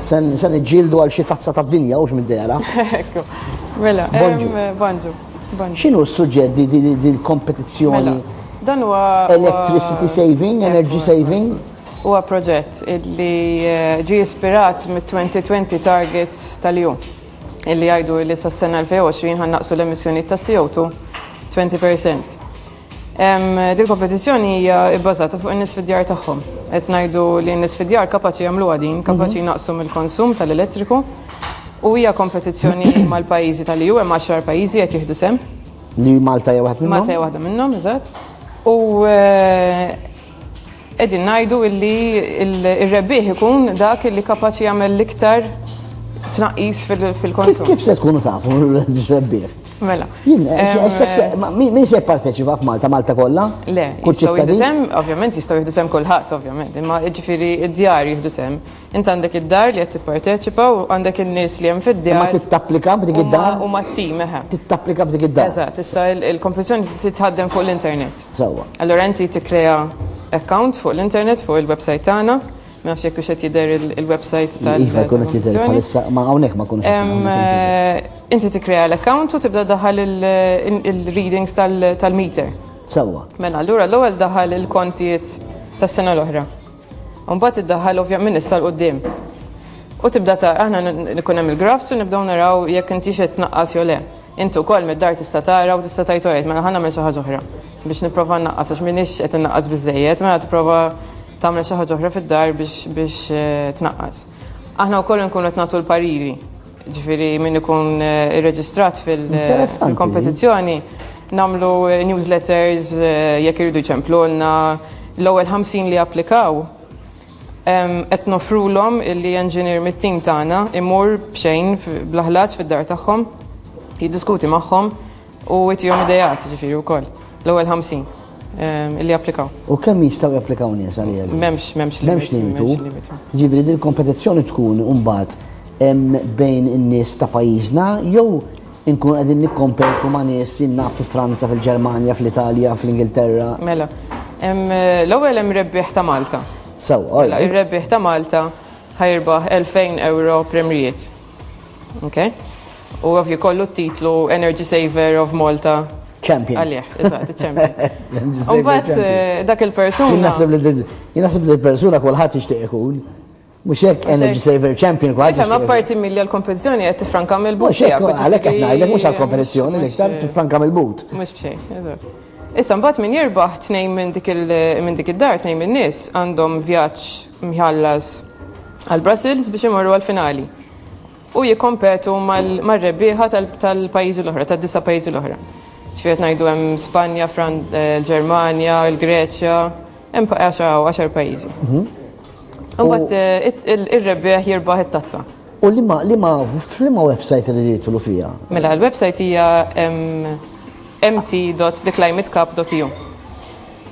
Se niġġieldu għal xi tazza tad-dinja hux mid-dehra. Ekku. Mela, Bonġu. Bonġu. Bonġu. X'inhu s-suġġett di di l-kompetizzjoni? Mela, dan huwa Electricity saving, energy saving? Huwa proġett li eh, ġie ispirat mit-2020 targets tal-EU illi jgħidu li sas-sena 2020 ħa nnaqqsu l-emissjoni ta' CO2 20%. Dil kompetizzjoni hija bbażata fuq in-nies fid-djar tagħhom. Qed ngħidu li n-nies fid-djar kapaċi jagħmluha din, kapaċi jnaqqsu mill-konsum tal-elettriku. U hija kompetizzjoni mal-pajjiżi tal-EU, hemm 10 pajjiżi qed jieħdu sehem. Li Malta hija waħda minnhom? Malta hija waħda minnhom, eżatt. U eh, qegħdin ngħidu illi il-rebbieħ ikun dak illi kapaċi jagħmel l-iktar tnaqqis fil-konsum. Kif se tkunu tafu r-rebbieħ? Mela. Jien, eh, min se jipparteċipa f'Malta, Malta kollha? Le, jistgħu jieħdu sehem, ovvjament jistgħu jieħdu sehem kulħadd, ovvjament, imma jiġifieri id-djar jieħdu sehem. Int għandek id-dar li qed tipparteċipa u għandek in-nies li hemm fid-djar. Ma tittapplika b'dik id-dar? U ma tim, eħe. Tittapplika b'dik id-dar. Eżatt, issa il-kompetizzjoni titħaddem fuq l-internet. Sewwa. Allura inti tikkrea account fuq l-internet, fuq il-website tagħna, Ma nafx jekk qed jidher il-website tal. Iva jkun qed jidher bħalissa, ma hawnhekk ma kunux. Eh, inti tikkrea l-account u tibda daħal il-readings tal-meter. Sewwa. Mela, allura l-ewwel daħal il-kontijiet tas-sena l-oħra. U mbagħad iddaħħal ovvjament minn issa 'l quddiem. U tibda ta' aħna nkun hemm il-graphs u nibdew naraw jekk intix qed tnaqqas jew le. Inti wkoll mid-dar tista' tara u tista' tgħid orajt mela ħa nagħmel xi ħaġa oħra biex nipprova nnaqqas għax m'iniex qed innaqqas biżżejjed, mela tipprova tagħmel xi ħaġa oħra fid-dar biex biex eh, tnaqqas. Aħna wkoll nkunu qed nagħtu l-pariri. Ġifieri min ikun eh, irreġistrat eh, fil-kompetizzjoni nagħmlu newsletters jekk iridu jċemplulna. L-ewwel 50 li applikaw qed nofrulhom illi engineer mit-tim tagħna imur b'xejn bla ħlas fid-dar tagħhom, jiddiskuti magħhom u jtihom ideat ġifieri wkoll. L-ewwel 50 illi applikaw. U kemm jistgħu japplikaw nies għalija? M'hemmx m'hemmx M'hemmx limitu. Ġifieri din kompetizzjoni tkun imbagħad bejn in-nies ta' pajjiżna jew inkun qegħdin nikkompetu ma' nies jien naf fi Franza, fil-Ġermanja, fl-Italja, fl-Ingilterra. Mela, l-ewwel hemm rebbieħ ta' Malta. Sewwa, mela, ir-rebbieħ ta' Malta ħa jirbaħ 2000 euro premjijiet. Ok? U ovvju kollu t-titlu Energy Saver of Malta. Champion. Għalih, eżatt, champion. Mbagħad eh, dak il-persuna. Jien naħseb li l-persuna kulħadd jixtieq ikun. Mhux hekk Energy Saver Champion kważi. Ifhem apparti milli għall-kompetizzjoni qed tifranka mill-but. Mhux hekk għalhekk qed ngħidlek mhux għall-kompetizzjoni l-iktar tifranka mill-but. Mhux b'xejn, eżatt. Issa mbagħad min jirbaħ tnejn minn dik minn dik id-dar tnejn min-nies għandhom vjaġġ mħallas għal Brussels biex imorru għall-finali. U jikkompetu mar-rebbieħa tal-pajjiżi l-oħra, tad-disa' pajjiżi l-oħra. Ġifieri qed ngħidu hemm Spanja, l-Ġermanja, il-Greċja, hemm għaxar pajjiżi. Imbagħad eh, ir-rebbieħ jirbaħ it-tazza. U li ma li ma f'liema website li jidħlu fiha? Mela l-website hija mt.theclimatecup.eu.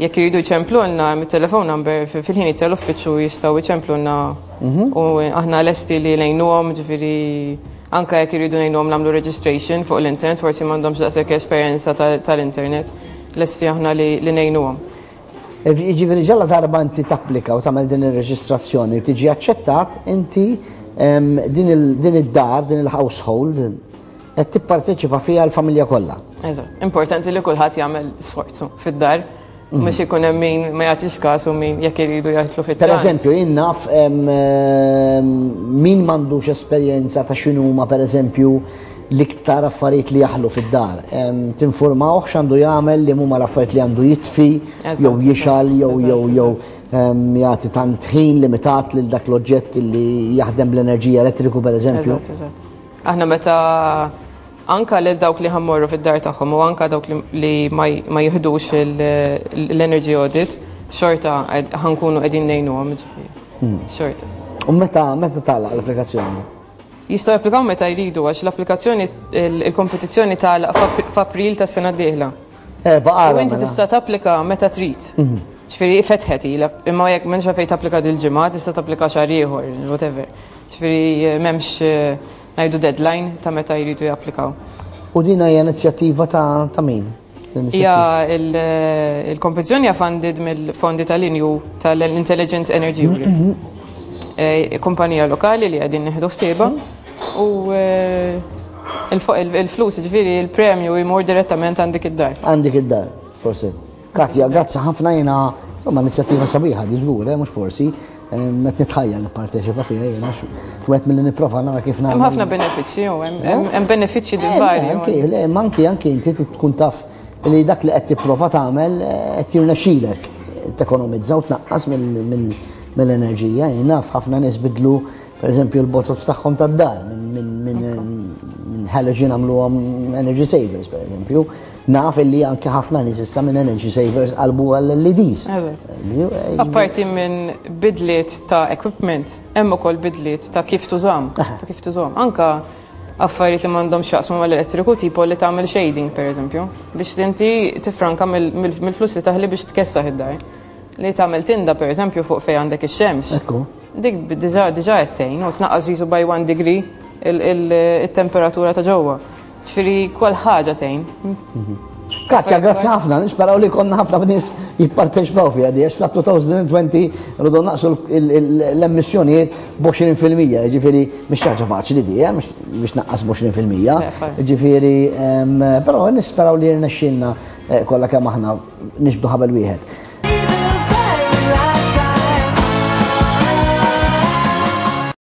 Jekk iridu jċemplulna mit-telefon number fil-ħin tal-uffiċċju jistgħu jċemplulna mhm. u aħna lesti li ngħinuhom ġifieri anka jekk iridu ngħinuhom nagħmlu registration fuq l-internet, forsi m'għandhomx daqshekk esperjenza tal-internet, lesti aħna li ngħinuhom. Jiġifieri ġalla darba inti tapplika u tagħmel din ir-reġistrazzjoni u tiġi aċċettat, inti din id-dar, din il-household, qed tipparteċipa fiha l-familja kollha. Eżatt. Importanti li kulħadd jagħmel sforzu fid-dar. Mhm. Mhux ikun hemm min ma jagħtix każ u min jekk iridu jgħidlu fiċ Per eżempju, jien naf min m'għandux esperjenza ta' x'inhuma pereżempju l-iktar affarijiet li jaħlu fid-dar. Tinformawh x'għandu jagħmel li huma l-affarijiet li għandu jitfi, jew jixal, jew jew jew jagħti tant ħin limitat lil dak l-oġġett li jaħdem bl-enerġija elettriku pereżempju. Aħna meta anka lil dawk li ħammorru fid-dar tagħhom u anka dawk li ma jiħdux l-energy audit, xorta ħankunu qegħdin ngħinuhom ġifieri. Hmm. Xorta. U meta meta tagħlaq l-applikazzjoni? Jistgħu japplikaw meta jridu għax l-applikazzjoni il-kompetizzjoni tagħlaq f'April tas-sena d-dieħla. Eh, u inti mela. tista' tapplika meta trid. Mhm. Ġifieri fetħet ilha, imma jekk m'hemmx fejn tapplika dil-ġimgħa, tista' tapplika xahar ieħor, whatever. Ġifieri eh, m'hemmx eh, ngħidu deadline ta' meta jridu japplikaw. U din hija inizjattiva ta' ta' min? Hija il-kompetizzjoni hija funded mill-fondi tal-INU tal-Intelligent Energy Europe. Mhm. Kumpanija lokali li qegħdin nieħdu ħsiebha u il-flus ġifieri il-premju jmur direttament għandik id-dar. Għandik id-dar, forsi. Katja, grazzi ħafna jiena, insomma, inizjattiva sabiħa di żgur, eh, mhux forsi, qed nitħajja li parteċipa fiha jiena wieħed milli nipprova nara kif nagħmel. Hemm ħafna benefiċċji, hemm benefiċċji eh, varji. Anki, le, anki anki inti tkun taf li dak li qed tipprova tagħmel eh, qed jirnexxilek tekonomizza u tnaqqas mill-enerġija. Jien naf ħafna nies bidlu pereżempju l-botots tagħhom tad-dar minn halogen għamluhom energy savers pereżempju. Naf illi anke ħafna nies issa minn energy savers qalbu għall-LEDs. Apparti minn bidliet ta' equipment, hemm ukoll bidliet ta' kif tużam, ta' kif tużam. Anka affarijiet li m'għandhom x'jaqsmu mal-elettriku tipo li tagħmel shading pereżempju, biex inti tifranka mill-flus li taħli biex tkessaħ id-dar. Li tagħmel tinda pereżempju fuq fejn għandek ix-xemx. Dik diġà diġà qed tgħin u tnaqqas jisu by one degree il-temperatura ta' ġewwa. Ġifieri kull ħaġa tgħin. Katja, grazzi ħafna, nisperaw li konna ħafna nies jipparteċipaw fiha di, għax sa 2020 rridu naqsu l-emissjonijiet b'20%, ġifieri mhix ħaġa faċli di, eh, biex naqqas b'20%. Ġifieri, però nisperaw li jirnexxilna eh, kollha kemm aħna nixbdu ħabel wieħed.